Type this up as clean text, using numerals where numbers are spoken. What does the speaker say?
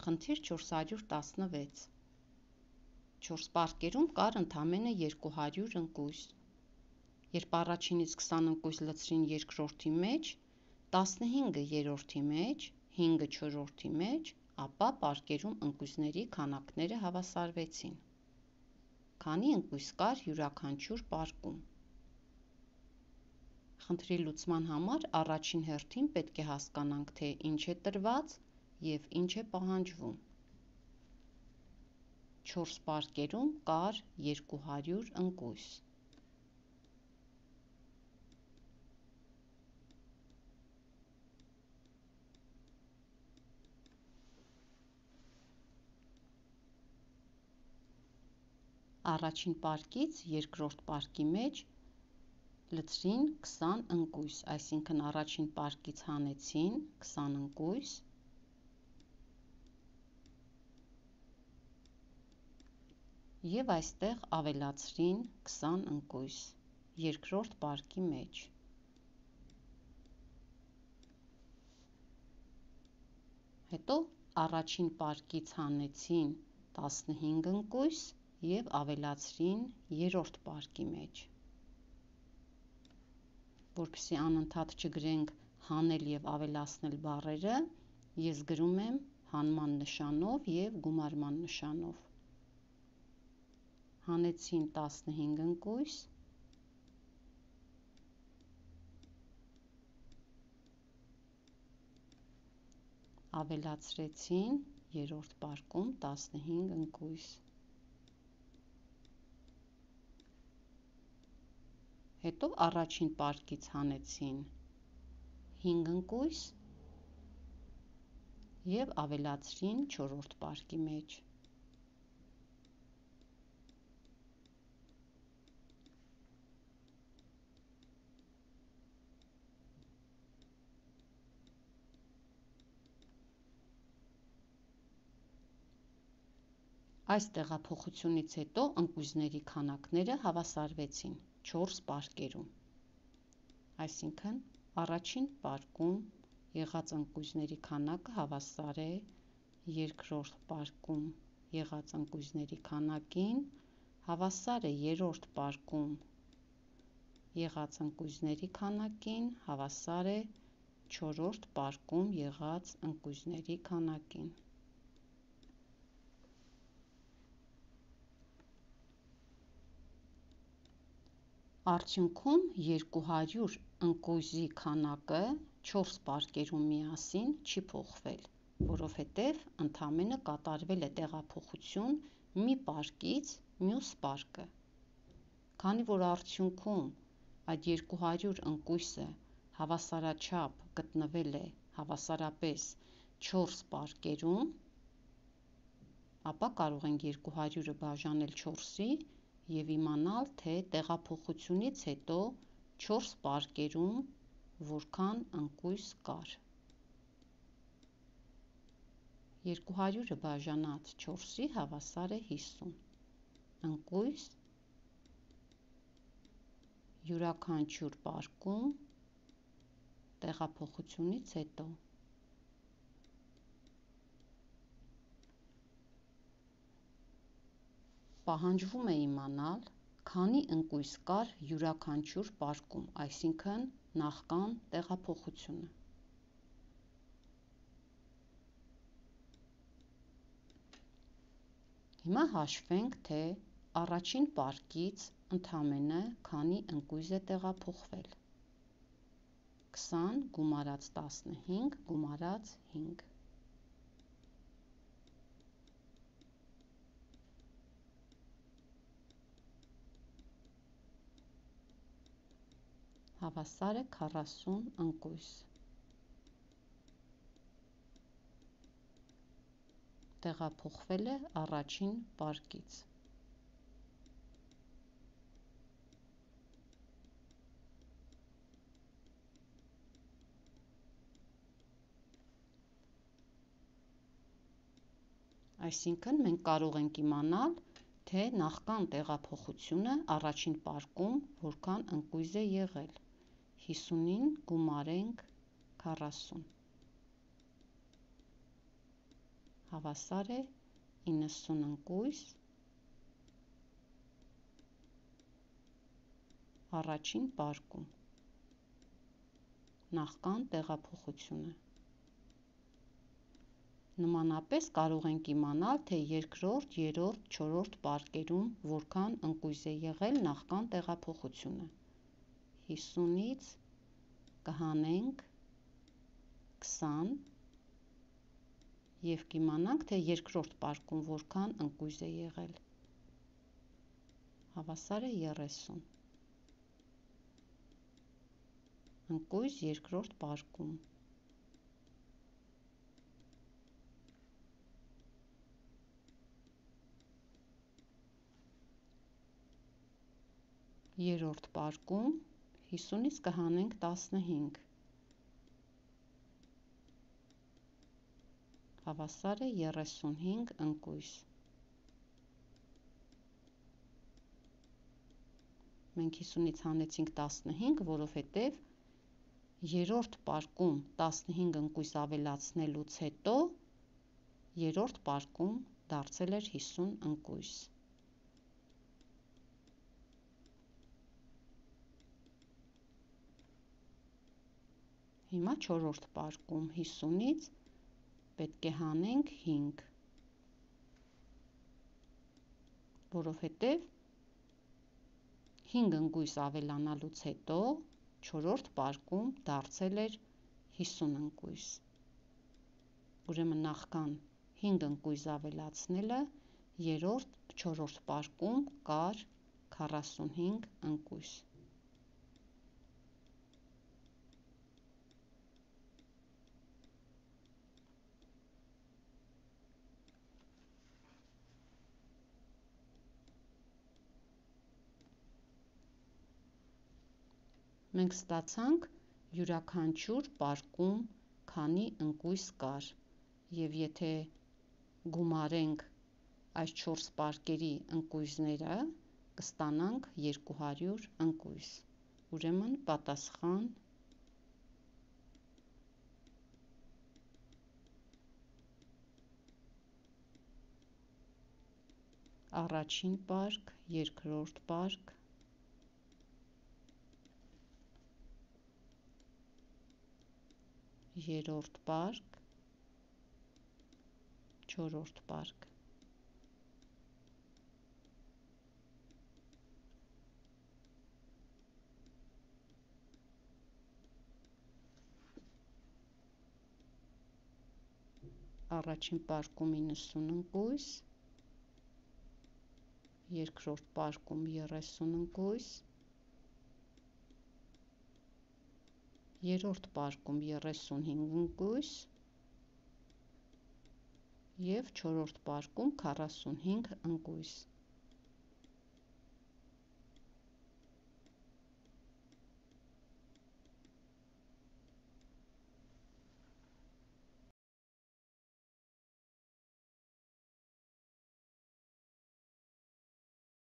Խնդիր 416 4 պարկերում կար ընդամենը 200 ընկույզ։ Երբ առաջինից 20 ընկույզ լցրին երկրորդի մեջ, 15-ը երրորդի մեջ, 5-ը չորրորդի մեջ, ապա պարկերում ընկույզների քանակները հավասարվեցին։ Քանի ընկույզ կար յուրաքանչյուր պարկում։ Խնդրի լուծման համար առաջին հերթին պետք է հասկանանք, թե ինչ է տրված և ինչ է պահանջվում։ 4 պարկերում կար 200 ընկույզ։ Առաջին պարկից երկրորդ պարկի մեջ լցրին 20 ընկույզ, այսինքն առաջին պարկից հանեցին 20 ընկույզ և այստեղ ավելացրին 20 ընկույզ երկրորդ պարկի մեջ։ Հետո առաջին պարկից հանեցին 15 ընկույզ և ավելացրին երրորդ պարկի մեջ։ Որպեսզի անընդհատ չգրենք հանել և ավելացնել բառերը, ես գրում եմ հանման նշանով և գումարման նշանով։ Հանեցին 15 ընկույզ, ավելացրեցին երրորդ պարկում 15 ընկույզ։ Հետո առաջին պարկից հանեցին 5 ընկույզ և ավելացրին չորրորդ պարկի մեջ։ Այս տեղափոխությունից հետո ընկույզների քանակները հավասարվեցին 4 պարկերում։ Այսինքն առաջին պարկում եղած ընկույզների քանակը հավասար է երկրորդ պարկում եղած ընկույզների քանակին, հավասար է երրորդ պարկում եղած ընկույզների քանակին, հավասար է չորրորդ պարկում եղած ընկույզների քանակին։ Արդյունքում 200 ընկույզի քանակը 4 պարկերում միասին չի փոխվել, որովհետև ընդամենը կատարվել է տեղափոխություն մի պարկից մյուս պարկը։ Քանի որ արդյունքում այդ 200 ընկույզը հավասարաչափ գտնվել է հավասարապես 4 պարկերում, ապա կարող ենք 200-ը բաժանել 4-ի և իմանալ, թե տեղափոխությունից հետո 4 պարկերում որքան ընկույզ կար։ 200-ը բաժանած 4-ի հավասար է 50 ընկույզ յուրաքանչյուր պարկում տեղափոխությունից հետո։ Պահանջվում է իմանալ, քանի ընկույզ կար յուրաքանչյուր պարկում, այսինքն նախքան տեղափոխությունը։ Հիմա հաշվենք, թե առաջին պարկից ընդամենը քանի ընկույզ է տեղափոխվել։ 20 գումարած 15 գումարած 5։ Հավասար է 40 ընկույզ։ Տեղափոխվել է առաջին պարկից։ Այսինքն մենք կարող ենք իմանալ, թե նախքան տեղափոխությունը առաջին պարկում որքան ընկույզ է եղել։ 50-ին գումարենք 40։ հավասար է 90 ընկույզ առաջին պարկում, նախքան տեղափոխությունը։ Նմանապես կարող ենք իմանալ, թե երկրորդ, երրորդ, չորրորդ պարկերում որքան ընկույզ է եղել նախքան տեղափոխությունը։ 50-ից կհանենք 20 և կիմանանք, թե երկրորդ պարկում որքան ընկույզ է եղել։ Հավասար է 30։ Ընկույզ երկրորդ պարկում։ Երրորդ պարկում 50-ից կհանենք 15, հավասար է 35 ընկույզ։ Մենք 50-ից հանեցինք 15, որովհետև երրորդ պարկում 15 ընկույզ ավելացնելուց հետո երրորդ պարկում դարձել էր 50 ընկույզ։ Հիմա չորրորդ պարկում 50-ից պետք է հանենք 5, որովհետև 5 ընկույզ ավելանալուց հետո չորրորդ պարկում դարձել էր 50 ընկույզ։ Ուրեմն նախքան 5 ընկույզ ավելացնելը չորրորդ պարկում կար 45 ընկույզ։ Մենք ստացանք յուրաքանչյուր պարկում քանի ընկույզ կար, և եթե գումարենք այս 4 պարկերի ընկույզները, կստանանք 200 ընկույզ։ Ուրեմն պատասխան առաջին պարկ, երկրորդ պարկ, երրորդ պարկ, չորրորդ պարկ։ Առաջին պարկում 90 ընկույզ, երկրորդ պարկում 30 ընկույզ, երրորդ պարկում 35 ընկույզ և չորրորդ պարկում 45 ընկույզ։